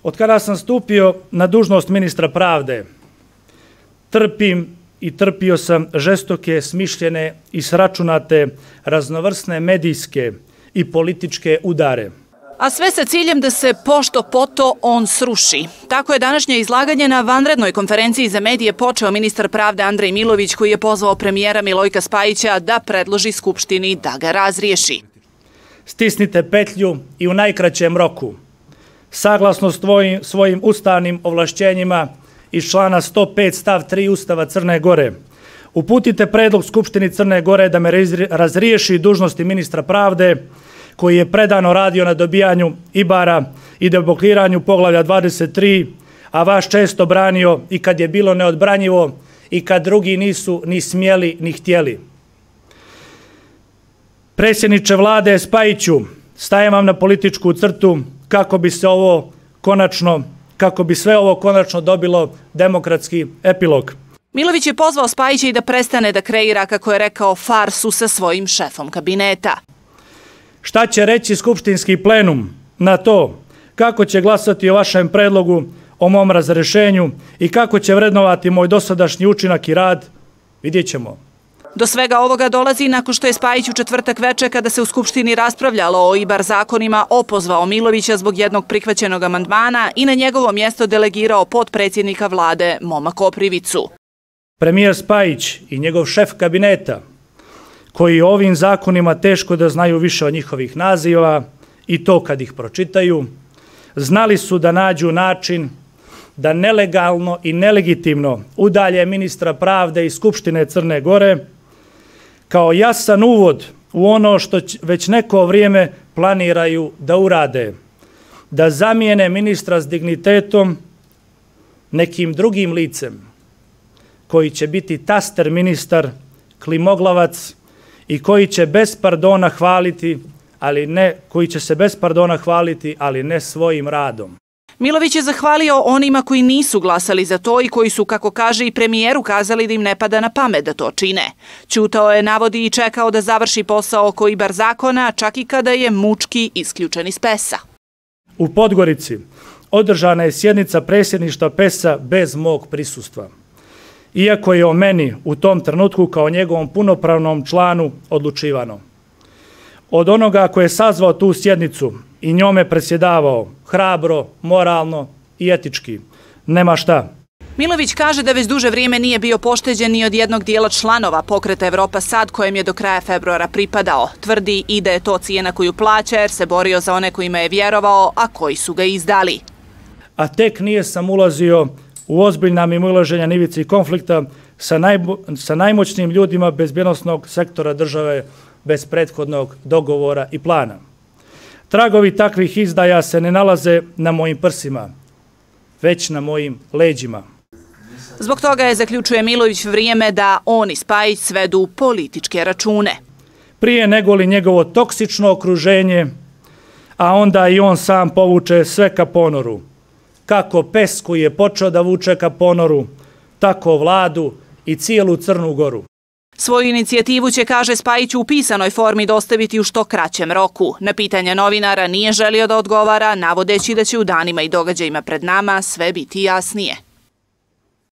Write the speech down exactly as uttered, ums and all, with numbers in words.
Od kada sam stupio na dužnost ministra pravde, trpim i trpio sam žestoke, smišljene i sračunate raznovrsne medijske i političke udare. A sve sa ciljem da se pošto poto on sruši. Tako je današnje izlaganje na vanrednoj konferenciji za medije počeo ministar pravde Andrej Milović, koji je pozvao premijera Milojka Spajića da predloži Skupštini da ga razriješi. Stisnite petlju i u najkraćem roku, saglasno svojim, svojim ustavnim ovlašćenjima iz člana sto pet stav tri Ustava Crne Gore, uputite predlog Skupštini Crne Gore da me razriješi dužnosti ministra pravde, koji je predano radio na dobijanju Ibara i deblokiranju poglavlja dvadeset tri, a vas često branio i kad je bilo neodbranjivo i kad drugi nisu ni smjeli ni htjeli. Predsjedniče vlade Spajiću, stajem vam na političku crtu kako bi se ovo konačno, kako bi sve ovo konačno dobilo demokratski epilog. Milović je pozvao Spajića i da prestane da kreira, kako je rekao, farsu sa svojim šefom kabineta. Šta će reći skupštinski plenum na to kako će glasati o vašem predlogu o mom razrešenju i kako će vrednovati moj dosadašnji učinak i rad, vidjet ćemo. Do svega ovoga dolazi nakon što je Spajić u četvrtak veče, kada se u Skupštini raspravljalo o Ibar zakonima, opozvao Milovića zbog jednog prihvaćenog amandmana i na njegovo mjesto delegirao potpredsjednika vlade Moma Koprivicu. Premijer Spajić i njegov šef kabineta, koji o ovim zakonima teško da znaju više od njihovih naziva i to kad ih pročitaju, znali su da nađu način da nelegalno i nelegitimno udalje ministra pravde iz Skupštine Crne Gore kao jasan uvod u ono što već neko vrijeme planiraju da urade, da zamijene ministra s dignitetom nekim drugim licem koji će biti taster ministar, klimoglavac i koji će bez pardona hvaliti, ali ne, koji će se bez pardona hvaliti, ali ne svojim radom. Milović je zahvalio onima koji nisu glasali za to i koji su, kako kaže i premijer, ukazali da im ne pada na pamet da to čine. Ćutao je, navodi, i čekao da završi posao oko Ibar zakona, čak i kada je mučki isključen iz pesa. U Podgorici održana je sjednica predsjedništva pesa bez mog prisustva, iako je o meni u tom trenutku kao njegovom punopravnom članu odlučivano. Od onoga koji je sazvao tu sjednicu i njome predsjedavao hrabro, moralno i etički, nema šta. Milović kaže da već duže vrijeme nije bio pošteđen ni od jednog dijela članova pokreta Evropa Sad, kojem je do kraja februara pripadao. Tvrdi i da je to cijena koju plaća jer se borio za one kojima je vjerovao, a koji su ga izdali. A tek nije sam ulazio u ozbiljna mimoilaženja na ivici konflikta sa, najbo, sa najmoćnijim ljudima bezbjednosnog sektora države bez prethodnog dogovora i plana. Tragovi takvih izdaja se ne nalaze na mojim prsima, već na mojim leđima. Zbog toga je, zaključuje Milović, vrijeme da on i Spajić svedu političke račune. Prije nego li njegovo toksično okruženje, a onda i on sam povuče sve ka ponoru. Kako pes koji je počeo da vuče ka ponoru, tako vladu i cijelu Crnu Goru. Svoju inicijativu će, kaže Spajić, u pisanoj formi dostaviti u što kraćem roku. Na pitanje novinara nije želio da odgovara, navodeći da će u danima i događajima pred nama sve biti jasnije.